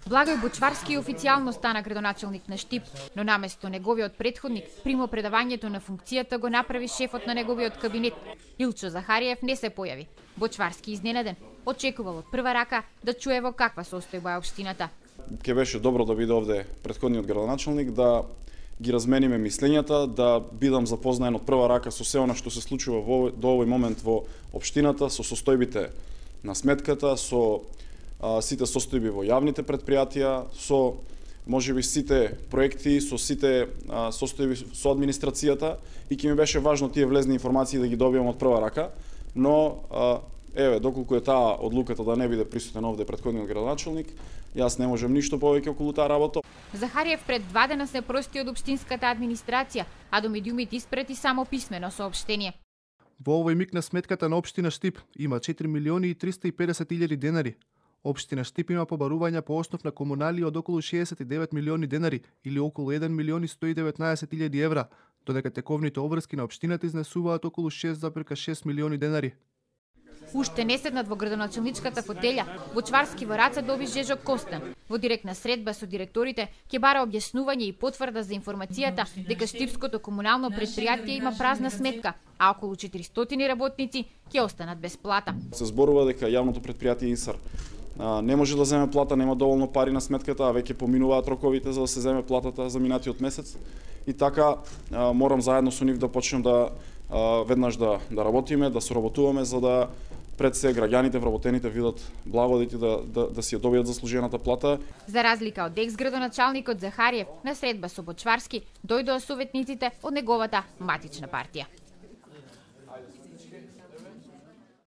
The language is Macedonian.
Благој Бочварски официјално стана градоначалник на Штип, но наместо неговиот претходник, примо предавањето на функцијата го направи шефот на неговиот кабинет. Илчо Захариев не се појави. Бочварски изненаден, очекувал од прва рака да чуе во каква состојба е општината. Ке беше добро да биде овде претходниот градоначалник, да ги размениме мислењата, да бидам запознаен од прва рака со се она што се случува до овој момент во општината, со состојбите на сметката, со сите состојби во јавните предпријатија, со можеби сите проекти, со сите состојби со администрацијата, и ќе ми беше важно тие влезни информации да ги добијам од прва рака, но еве, доколку е таа одлуката да не биде присутен овде претходниот градоначалник, јас не можам ништо повеќе околу таа работа. Захариев пред 2 дена се прости од општинската администрација, а до медиумите испрати само писмено соопштение. Во овој миг на сметката на општина Штип има 4.350.000 денари. Општина Штип има побарувања по основ на комунали од околу 69 милиони денари или околу 1.119.000 евра, додека тековните обврски на општината изнесуваат околу 6,6 милиони денари. Уште не седнат во градоначалничката фотелја, Бочварски во раце доби Жежо Костан. Во директна средба со директорите ќе бара објаснување и потврда за информацијата дека Штипското комунално претпријатие има празна сметка, а околу 400 работници ќе останат без плата. Се зборува дека јавното претпријатие ИНСАР не може да земе плата, нема доволно пари на сметката, а веќе поминуваат роковите за да се земе платата за минатиот месец. И така морам заедно со нив да почнем да веднаш да работиме, да соработуваме за да пред се граѓаните, вработените видат благодати да си ја добијат заслужената плата. За разлика од екс-градоначалникот Захариев, на средба со Бочварски дојдоа советниците од неговата матична партија.